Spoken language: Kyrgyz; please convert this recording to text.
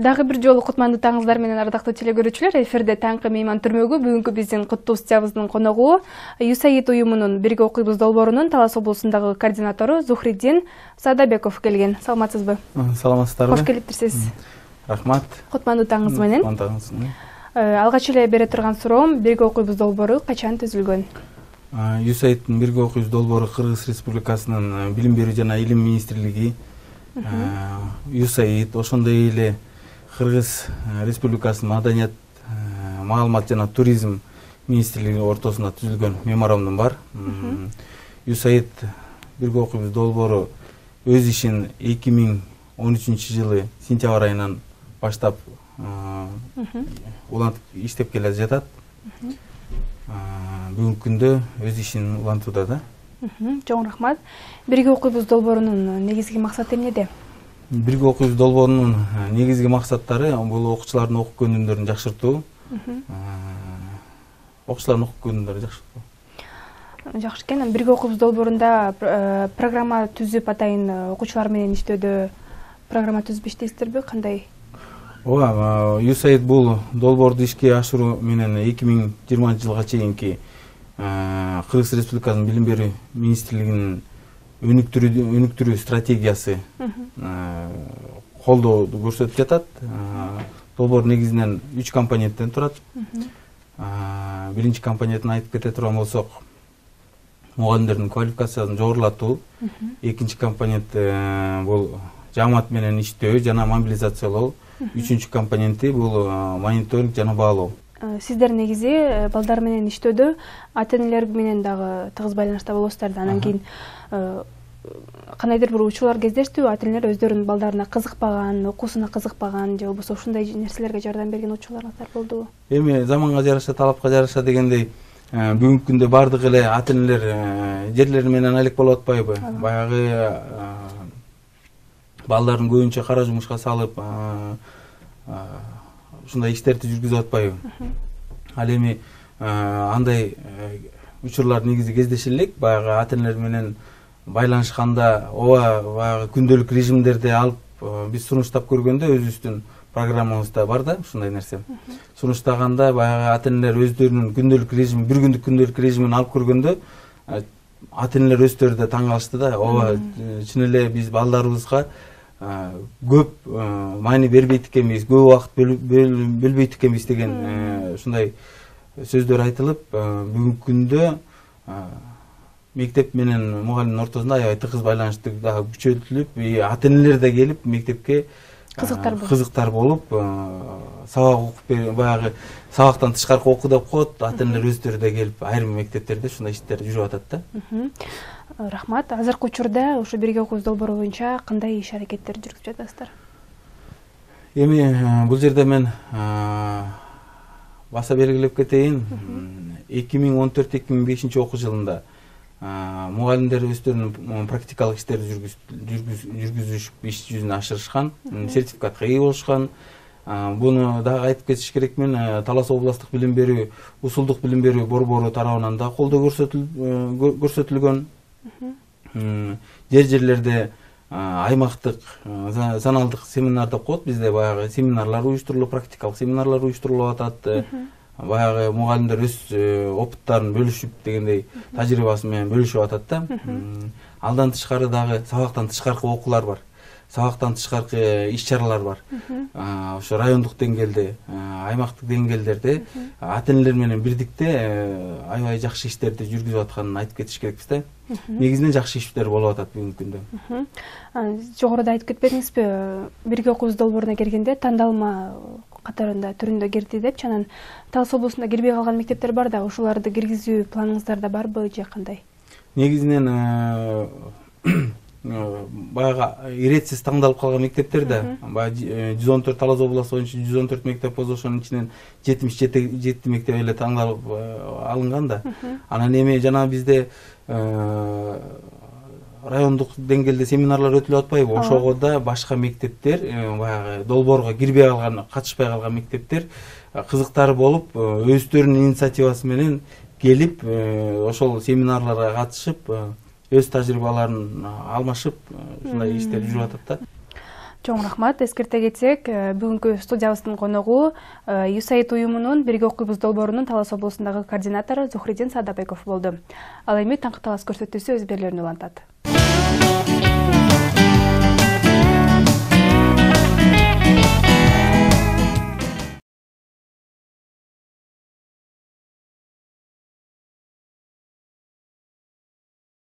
Дагы бир жолу кутмандуу таңыңыздар менен ардактуу телекөрүүчүлөр. Эфирде таңкы мейман түрмөгү. Бүгүнкү биздин куттуу студиябыздын коногу USAID уюмунун Бирге окуйбуз долбоорунун Талас облусундагы координатору Зухриддин Садабеков келген. Саламатсызбы? Саламатсыздарбы? Кош келиптирсиз. Рахмат. Кутмандуу таңыңыз менен. Таңыңыз менен. Алгач эле бере турган суроом, Бирге окуйбуз долбоору качан түзүлгөн? USAIDдин Бирге окуйбуз долбоору Кыргыз Республикасынын Билим берүү жана Илим министрлиги, USAID ошондой эле Кыргыз Республикасынын Маданият, маалымат жана туризм министрлиги ортосунда түзүлгөн меморандум бар. USAID Бирге окуйбуз долбоору өз ишин 2013-жылы сентябрь айынан баштап улантып иштеп келе жатат. Бүгүнкү күндө өз ишин улантууда да. Чоң рахмат. Бирге окуйбуз долбоорунун негизги максаты эмнеде? Бирге окуйбуз долбоорунун негизги максаттары бул окуучулардын окуп көөнүмдөрүн жакшыртуу. Окуучулардын окуп көөнүмдөрүн жакшыртуу. Жакшы экен. Бирге окуйбуз долбоорунда программа түзүп атайын окуучулар менен иштөөдө программа түзүп иштейсиздерби? Кандай? Ооба, USAID бул долбоорду ишке ашыруу менен 2020-жылга чейинки Кыргыз Республикасынын Билим берүү министрлигинин өнүктүрүү стратегиясы колдооду көрсөтүп жатат. Долбоор негизинен 3 компоненттен турат. Биринчи компонентин айтып кете турган болсок, мугалимдердин квалификациясын жогорулатуу. Экинчи компонент бул жамаат менен иштөө жана мобилизациялоо. Үчүнчү компоненти бул мониторинг жана баалоо. Сиздер негизи балдар менен иштөөдө ата-энелер менен дагы тыгыз байланышта болосуздар да. Анан кийин кандайдыр бир учурлар кездештиби, ата-энелер өздөрүнүн балдарына кызыкпаган, окуусуна кызыкпаган же болбосо ушундай нерселерге жардам берген учурларыңыздар болдубу? Эми заманга жараша, талапка жараша дегендей, бүгүнкү күндө бардык эле ата-энелер жерлери менен алек болуп атпайбы? Баягы балдарын көбүнчө кара жумушка салып, ушундай иштерди жүргүзүп атпайбы? Ал эми андай учурлар негизи кездеше элек. Баягы ата-энелер менен байланышканда, баягы күндөлүк режимдерди алып биз сунуштап көргөндө өзүбүздүн программабызда бар да ушундай нерсе. Сунуштаганда баягы ата-энелер өздөрүнүн күндөлүк режимин, бир күндүк күндөлүк режимин алып көргөндө ата-энелер өздөрү да таң калышты да. Чын эле биз балдарыбызга көп маани бербейт экенбиз, көп убакыт бөлбөйт экенбиз деген ушундай сөздөр айтылып, бүгүнкү күндө мектеп менен мугалимдин ортосунда аябай тыгыз байланыштык дагы күчөтүлүп, ата-энелер да келип мектепке кызыктар болуп, сабак окуп, баягы сабактан тышкаркы окуу деп коет, ата-энелер өздөрү да келип, айрым мектептерде ушундай иштер жүрүп атат да. Рахмат. Азыркы учурда ушу Бирге окуйбуз долбоору боюнча кандай иш-аракеттер жүргүзүп жатасыздар? Эми бул жерде мен баса белгилеп кетейин. 2014-2005 окуу жылында мугалимдер өздөрүнүн практикалык иштерди жүргүзүшүп, иш жүзүнө ашырышкан, сертификатка ээ болушкан. Буну дагы айтып кетиш керекмин. Талас областык билим берүү, усулдук билим берүү борбору тарабынан да колдоо көрсөтүлгөн. Жерлерде аймактык заналдык семинар деп коет, бизде баягы семинарлар уюштурулуп, практикалык семинарлар уюштурулуп атат. Баягы мугалимдер өз опыттарын бөлүшүп дегендей тажрыйбасы менен бөлүшүп атат да. Алдан тышкары дагы сабактан тышкаркы окуулар бар. Сабактан тышкаркы иш-чаралар бар. Ошо райондук деңгээлде, аймактык деңгээлдерде ата-энелер менен бирдикте аябай жакшы иштерди жүргүзүп атканын айтып кетиш керекпиз да. Негизинен жакшы иштер болуп атат бүгүнкү күндө. Жогоруда айтып кетпедиңизби, Бирге окуйбуз долбооруна киргенде тандалма катарында түрүндө кирди депчи, анан Талас облусунда кирбей калган мектептер бар да, ошоларды киргизүү планыңыздарда барбы же кандай? Негизинен баягы иретсиз таңдалып калган мектептер да, баягы 114 Талас областы боюнча 114 мектеп болсо, ошонун ичинен 77 мектеп эле таңдалып алынган да. Анан эми жана бизде райондук деңгээлде семинарлар өтүлүп атпайбы? Ошого да башка мектептер, баягы долбоорго кирбей калган, катышпай калган мектептер кызыктары болуп, өздөрүнүн инициативасы менен келип, ошол семинарларга катышып, өз тажрыйбаларын алмашып, ушундай иштер жүрүп атат да. Чоң рахмат. Эскерте кетсек, бүгүнкү студиябыздын коногу USAID уюмунун Бирге окуйбуз долбоорунун Талас облусундагы координатору Зухридин Садабеков болду. Ал эми таңкы талас көрсөтүүсү өз берүүлөрүн улантат.